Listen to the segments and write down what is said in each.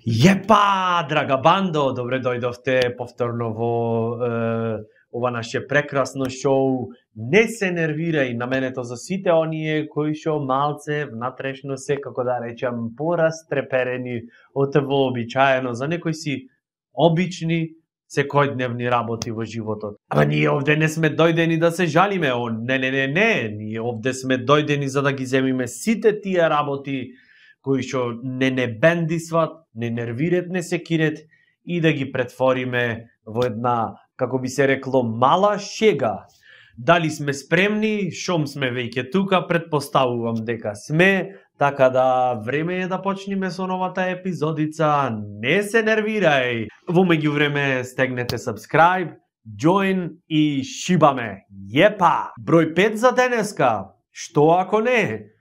Јепа, драга бандо, добре дојдовте повторно во ова наше прекрасно шоу. Не се нервирај, наменето за сите оние кои шо малце внатрешно се, како да речам, порастреперени од вообичаено за некои си обични секојдневни работи во животот. Ама ние овде не сме дојдени да се жалиме, не, ние овде сме дојдени за да ги земиме сите тие работи кои што не бендисват, не нервират, не секират и да ги претвориме во една, како би се рекло, мала шега. Дали сме спремни, шом сме веќе тука, предпоставувам дека сме, така да време е да почнеме со новата епизодица. Не се нервирај. Во меѓувреме стегнете subscribe, join и шибаме. Јепа! Број 5 за денеска. Што ако не?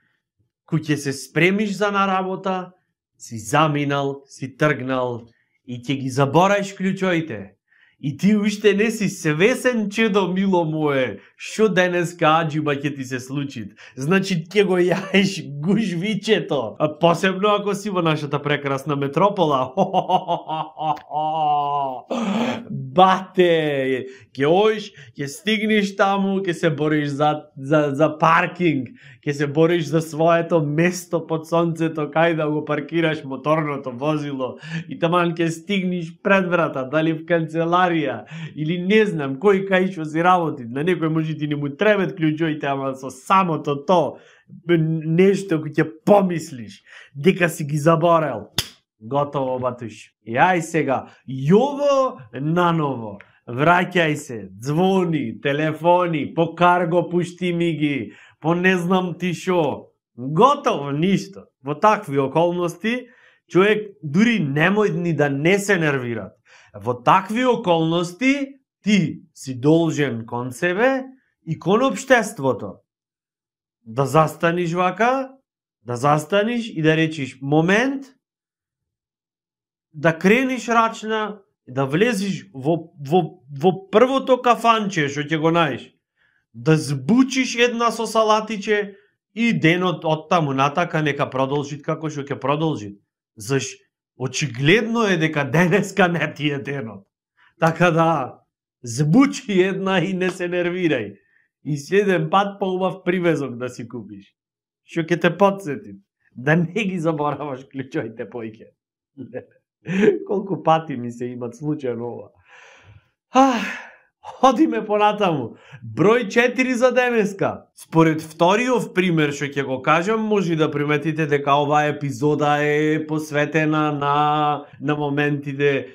Кој ќе се спремиш за на работа, си заминал, си тргнал и ќе ги забораиш клучоите. И ти уште не си свесен, чедо мило мое, шо денеска аџиба ќе ти се случи. Значи ќе го јаеш гужвичето. А посебно ако си во нашата прекрасна метропола. Бате, ќе оиш, ќе стигнеш таму, ќе се бориш за паркинг, ќе се бориш за своето место под сонцето, кај да го паркираш моторното возило и таман ќе стигнеш пред врата, дали в канцеларија или не знам кој кај што си работи. На некој може ти не му требат клучоите, ама со самото то нешто кој ќе помислиш дека си ги заборел. Готово, батуш. И ај сега, јово наново. Враќај се, звони, телефони, по карго пушти ми ги, по не знам ти шо. Готово, ништо. Во такви околности, човек дури немој ни да не се нервира. Во такви околности, ти си должен кон себе и кон општеството. Да застаниш вака, да застаниш и да речиш момент, да крениш рачна, да влезиш во првото кафанче што ќе го најдеш, да збучиш една со салатиче и денот од таму натака нека продолжи како што ќе продолжи. Заш очигледно е дека денеска не ти е денот. Така да збучи една и не се нервирај. И следен пат поубав привезок да си купиш. Што ќе те потсети да не ги забораваш клучоите поиќе. Колку пати ми се имат случај ова. Одиме понатаму. Број 4 за денеска. Според вториот пример што ќе го кажам, може да приметите дека оваа епизода е посветена на моментите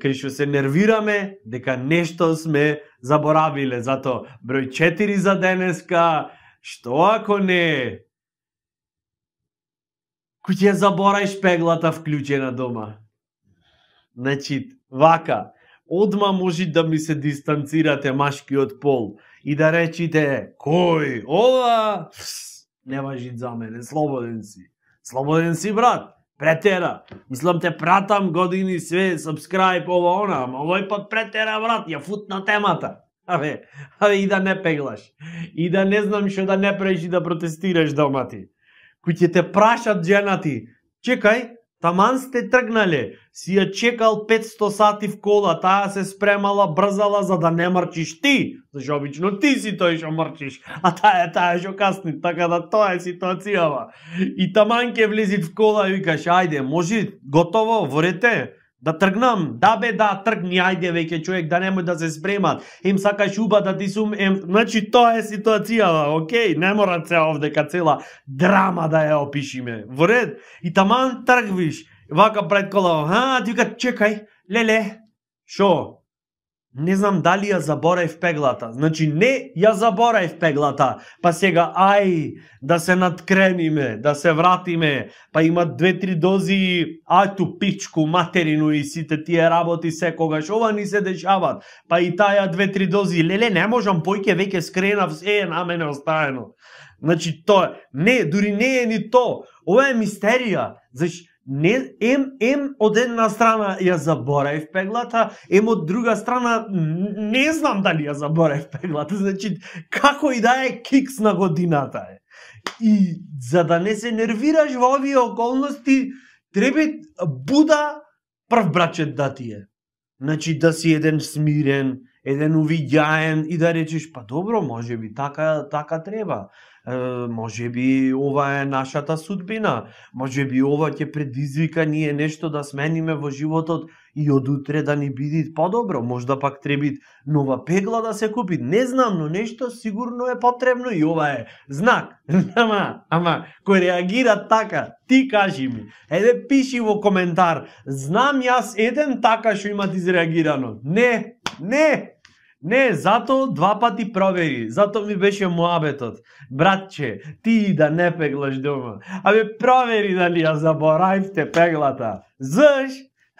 кај што се нервираме, дека нешто сме заборавиле. Зато број 4 за денеска, што ако не? Кој ќе забораиш пеглата вклучена дома? Значи, вака, одма може да ми се дистанцирате машкиот пол и да речите, кој, ова, не важи за мене, слободен си. Слободен си, брат, претера. Мислам те пратам години све, subscribe, ова, она, ама овој пат претера, брат, ја футна темата. Абе, и да не пеглаш. И да не знам што да не правиш и да протестираш дома ти. Кој ќе те прашат женати, чекај, таман сте тргнале, си ја чекал 500 сати в кола, таа се спремала, брзала за да не мрчиш ти, зашто обично ти си тој што мрчиш, а таа што касни, така да тоа е ситуацијава. И таман ке влезит в кола и викаш, ајде, може, готово, ворете, да тргнам, да бе, да, тргни, ајде веќе човек, да немој да се спремат, им сакаш уба да ти сум, значи тоа е ситуацијава, окей, не мора се овдека цела драма да ја опишиме, во ред, и таман тргвиш, вака пред кола, ти вика, чекај, леле, шо? Не знам дали ја забораев пеглата, значи не ја забораев пеглата, па сега ај, да се надкрениме, да се вратиме, па има 2-3 дози, ајту пичку, материну и сите тие работи секогаш, ова ни се дешават, па и таја 2-3 дози, леле, не можам, појке веќе скренав, се е на мене оставено. Значи тоа, не, дури не е ни то, ова е мистерија, зашто ем од една страна ја забораев пеглата, од друга страна не знам дали ја забораев пеглата, значи како и да е кикс на годината е. И за да не се нервираш во овие околности, треба буда прв брачет да ти е. Значи да си еден смирен, еден увиѓаен и да речеш, па добро, може би така треба. Може би ова е нашата судбина. Може би ова ќе предизвика ние нешто да смениме во животот и од утре да ни биде подобро. Можда пак треба нова пегла да се купи. Не знам, но нешто сигурно е потребно и ова е знак. Ама, кој реагира така, ти кажи ми. Еде пиши во коментар. Знам јас еден така што имат изреагирано. Не, зато два пати провери. Зато ми беше муабетот. Братче, ти да не пеглаш дома. Абе, провери дали ја заборавте пеглата. Заш?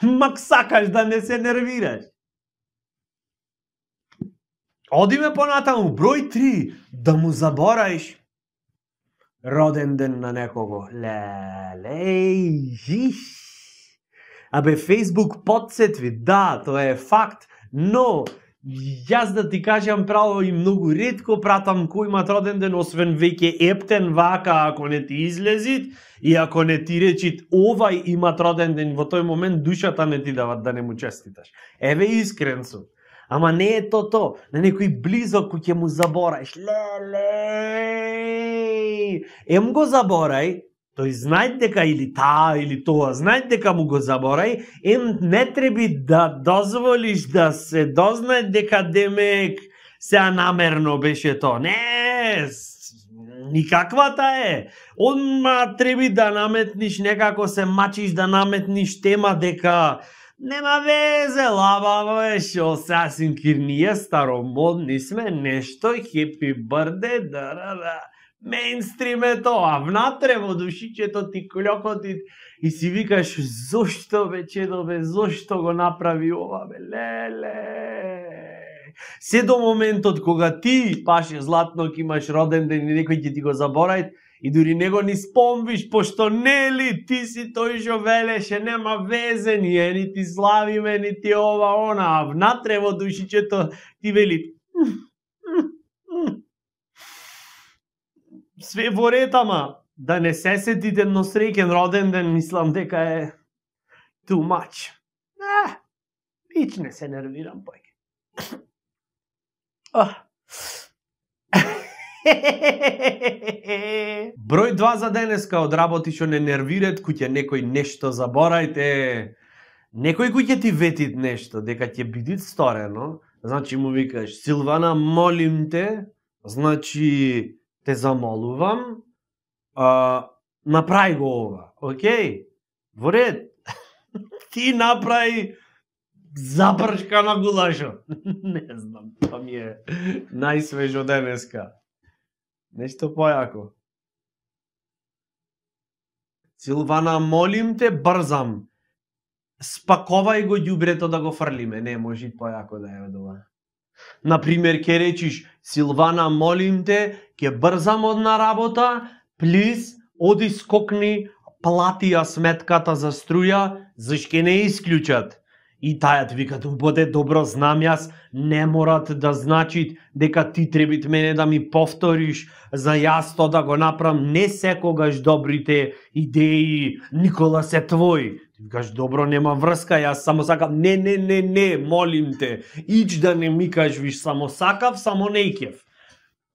Мак сакаш да не се нервираш. Одиме понатаму. Број 3. Да му забораиш роден ден на некого. Абе, Фейсбук подсетви. Да, тоа е факт. Но јас да ти кажам право и многу ретко пратам кој имат роден ден, освен веќе ептен вака ако не ти излезит и ако не ти речит овај имат роден ден, во тој момент душата не ти дават да не му честиташ. Еве искрен сум. Ама не е то. На некој близок кој ќе му забораиш. Ем го заборај, тој знај дека или таа или тоа, знај дека му го заборај, не треби да дозволиш да се дознае дека демек сеа намерно беше тоа. Не, никаквата е. Одма треби да наметниш, некако се мачиш да наметниш тема дека нема везе, лаба беше, сасим кир ние старомодни сме, нешто, хепи бърде, да. Мейнстрим е тоа, внатре во душичето ти клокоти и си викаш, зошто бе чедо бе, зошто го направи ова бе, леле. Се до моментот кога ти, паше Златнок, имаш роден ден и некој ќе ти го заборај и дури него ни спомвиш, пошто нели ти си тој што велеше, нема везе, ние ни ти славиме, ни ти ова, она, а внатре во душичето ти вели, све во ред, ама да не се сетите но среќен роден ден, мислам дека е too much. Вич не се нервирам појке. Број 2 за денеска од работи што не нервират, куќе некој нешто заборајте. Некој куќе ти ветит нешто, дека ќе биде сторено, значи му викаш, Силвана, молим те, значи те замолувам, направи го ова, окей? Во ред. Ти направи забршка на гулашот. Не знам, тоа ми е најсвежо денеска. Нешто појако. Силвана, молим те, брзам. Спаковај го ѓубрето да го фрлиме. Не, може појако да е ова. Например, ке речиш, Силвана, молим те, ке брзам од на работа, плиз, оди скокни, плати ја сметката за струја, зашто не исклучат. И тајат викат, убоде, добро, знам јас, не морат да значит дека ти требит мене да ми повториш за јас то да го направам, не секогаш добрите идеи, Никола, се твои. Ти викаш, добро, нема врска, јас само сакам, не, молим те, ич да не ми кажеш, само сакав, само не икев.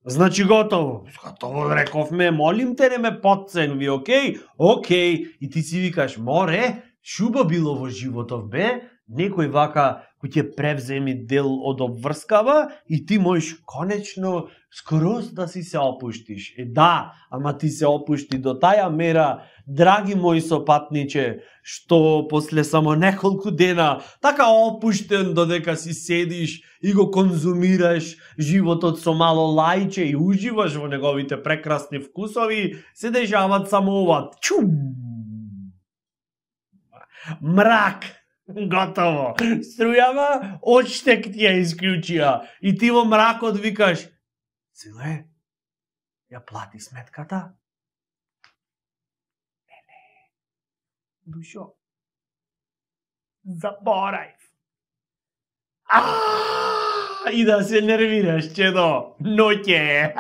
Значи готово. Готово рековме, молим те, не ме подценви, окей? Окей. И ти си викаш, море, шуба било во животов, бе, некој вака кој ќе превземи дел од обврскава и ти можеш конечно скроз да си се опуштиш. Да, ама ти се опушти до таја мера, драги мој сопатниче, што после само неколку дена така опуштен додека си седиш и го конзумираш животот со мало лајче и уживаш во неговите прекрасни вкусови, се дешават само ова. Чум! Мрак! Готово. Струјава, одштек ти ја исклучија. И ти во мракот викаш, Силе, ја плати сметката? Не. Душо, заборај. И да се нервираш, чедо. Ноќе.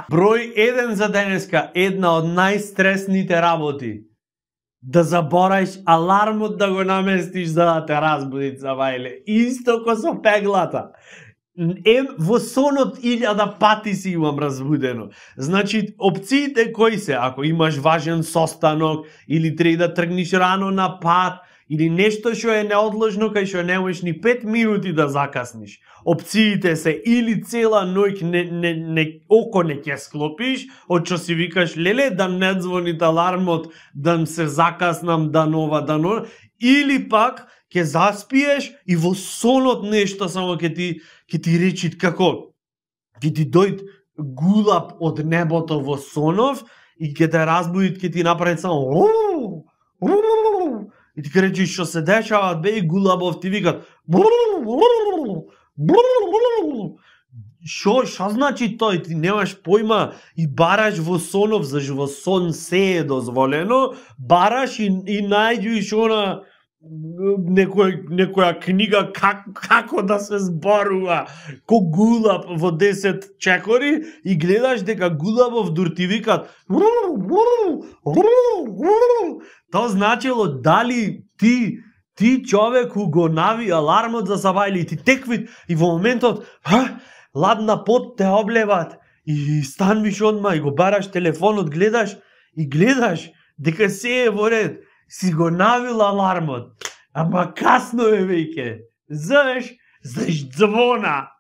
Број 1 за денеска, една од најстресните работи. да забораиш алармот да го наместиш за да те разбуди цавајле. Исто ко со пеглата. Во сонот 1000 пати си имам разбудено. Значи, опциите кои се? Ако имаш важен состанок, или треба да тргнеш рано на пат, или нешто што е неодложно, кај што не можеш ни 5 минути да закасниш. Опциите се или цела ноќ око не ќе склопиш, од што си викаш, леле, да не звони алармот, да се закаснам, да нова, или пак ќе заспиеш и во сонот нешто само ќе ти речи како, ќе ти дојд гулаб од небото во сонов и ќе те разбуди, ќе ти направи само и ти ќе речиш што се дешава, бе, гулабов ти викат Шо значи тој? Ти немаш појма и бараш во сонов, зашто во сон се е дозволено, бараш и најдеш она некоја книга како да се зборува ко гулаб во 10 чекори и гледаш дека гулабов дур ти викат тоа значило дали ти човеку го нави алармот за сабајле и ти теквит и во моментот ладна пот те облеват и станвиш одма и го бараш телефонот, гледаш дека се е во ред. Си го навил алармот, ама касно е веќе. Заш звона.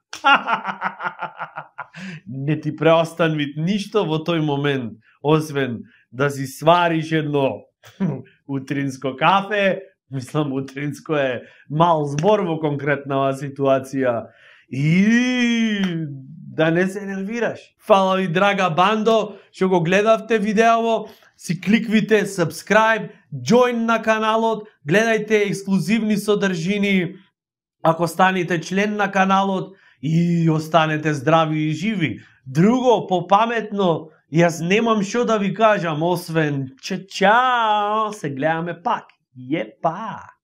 Не ти преостанви ништо во тој момент, освен да си свариш едно утринско кафе, мислам утринско е мал збор во конкретнава ситуација, и да не се нервираш. Фала ви, драга бандо, што го гледавте видеово. Си кликвите subscribe, join на каналот, гледајте ексклузивни содржини ако станете член на каналот и останете здрави и живи. Друго, попаметно, јас немам што да ви кажам, освен чао, се гледаме пак. Епа!